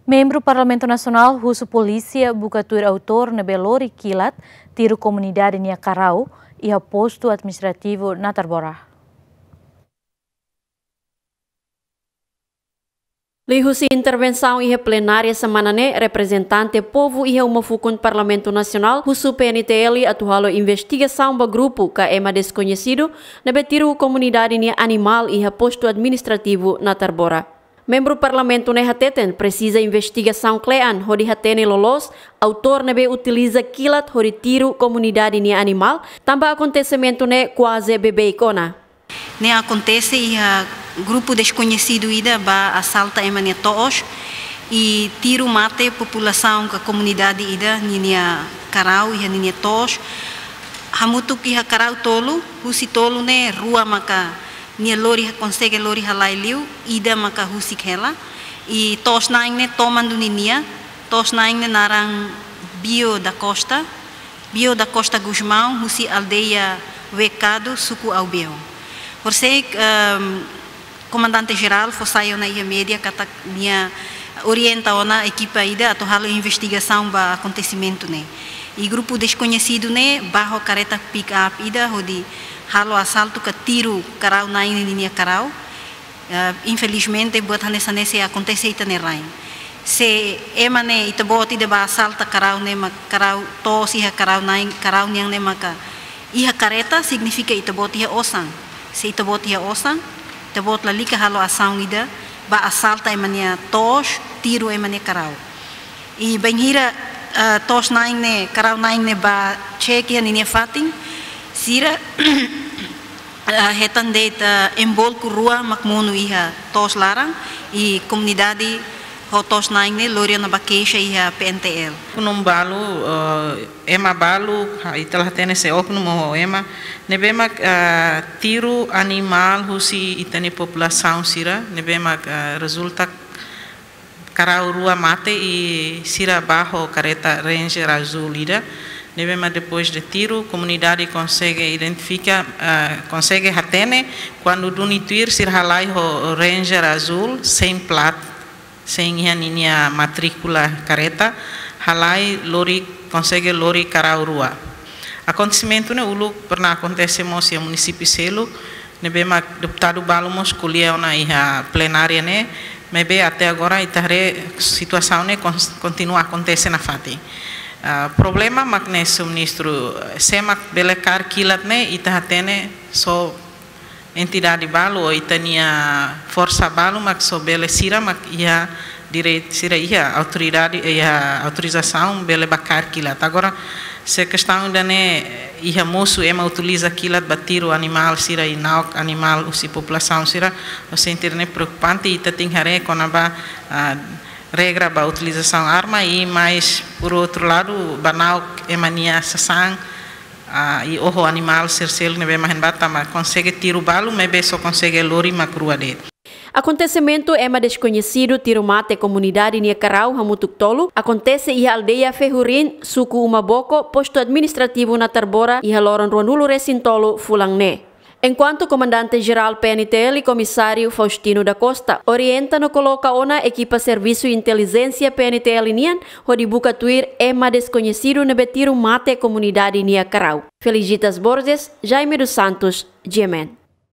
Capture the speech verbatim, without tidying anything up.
Membru Parlamentu Nasionál husu polísia buka tuir autór ne'ebé lori kilat tiru komunidade nia karau iha postu administrativu Natarbora. Liuhusi intervensaun iha plenária semana ne'e, reprezentante povu iha uma fukun Parlamentu Nasionál husu P N T L atu halo investigasaun ba grupu ka ema deskoñesidu ne'ebé tiru komunidade nia animál iha postu administrativu Natarbora. Membru Parlamentu ne'e hateten presiza investigasaun kle'an hodi hatene loloos autór ne'ebé utiliza kilat hodi tiru komunidade nia animál, tanba akontesimentu ne'e kuaze bebeik ona. Ne'e akontese iha grupu deskoñesidu ida bá asalta ema nia to'os i tiru mate populasaun ka komunidade ida ninia karau iha ninia to'os. Hamutuk iha karau tolu, husi tolu ne'e rua maka nia lori, konsege lori halai liu, ida maka husik hela. I to'os-na'in ne'e toman duni nia, to'os-na'in ne'e naran Bio da Costa, Bio da Costa Gusmão, husi aldeia Wekadu, suku Aubeu. Horisehik, ehm, komandante jerál fó sai ona iha média katak nia orienta ona ekipa ida atu halo investigasaun ba akontesimentu ne'e. I grupu deskoñesidu ne'e bá ho kareta pick-up ida hodi halo asaltu ka tiru karau-na'in ninia karau. Eh, infelizmente, buat hanesan ne'e sei akontese ita-nia rain. Se ema ne'e ita-boot ida bá asalta karau ne'e mak karau to'os iha karau-na'in, karau nian ne'e maka iha kareta, signifika ita-boot iha osan. Se ita-boot iha osan, ita-boot lalika halo asaun ida bá asalta ema nia to'os, tiru ema nia karau. I bainhira, eh, to'os-na'in ne'e, karau-na'in ne'e bá cek iha ninia fatin, sira, eh, hetan de'it, eh, embolku rua mak monu iha to'os laran, i komunidade ho to'os-na'in ne'e lori ona bá keixa iha P N T L. Oknum balu, eh, ema balu, ha, ita la hatene se oknum ou ema, ne'ebé mak, eh, tiru animál husi ita-nia populasaun sira, ne'ebé mak, eh, rezulta karau rua mate i sira bá ho kareta Ranger azúl ida, ne'ebé mak depois de tiru, komunidade konsege identifika, eh, konsege hatene, kuandu duni tuir sira halai ho Ranger azúl, sein plat, sein iha ninia matríkula kareta, halai lori, konsege lori karau rua. Akontesimentu ne'e uluk pernah akontese mós iha munisípiu seluk, ne'ebé mak deputadu balu mós ko'alia ona iha plenária ne'e, maibé até agora ita haree situasaun ne'e kon-, kontinua akontese nafatin. Ah, problema mak ne'e, señór ministru, sé mak bele kaer kilat ne'e, ita hatene só entidade balu ou ita-nia forsa balu mak só bele, sira mak iha direitu, sira iha autoridade, iha autorizasaun bele bá kaer kilat. Agora, se kestaun ida-ne'e iha mosu ema utiliza kilat bá tiru animál sira i na'ok animál husi populasaun sira, ha'u sente ne'e preokupante, ita tenke haree kona-ba, ah, regra ba utilizasaun arma i mais, por outro lado, bá na'ok ema nia sasán, ah, i oho animál sira seluk ne'ebé mak hein bá, tanba konsege tiru balu, maibé só konsege lori mak rua de'it. Akontesimentu ema deskoñesidu tiru mate komunidade nia karau hamutuk tolu akontese iha aldeia Fehurin, suku Umaboko, postu administrativu Natarbora, iha loron ruanulu-resin-tolu fulan ne'e. Enkuantu Komandante Jerál P N T L, Komisáriu Faustino da Costa, orienta no koloka ona ekipa servisu intelijénsia P N T L nian hodi buka tuir ema deskoñesidu ne'ebé tiru mate komunidade nia karau. Felicitas Borges, Jaime dos Santos, G M N.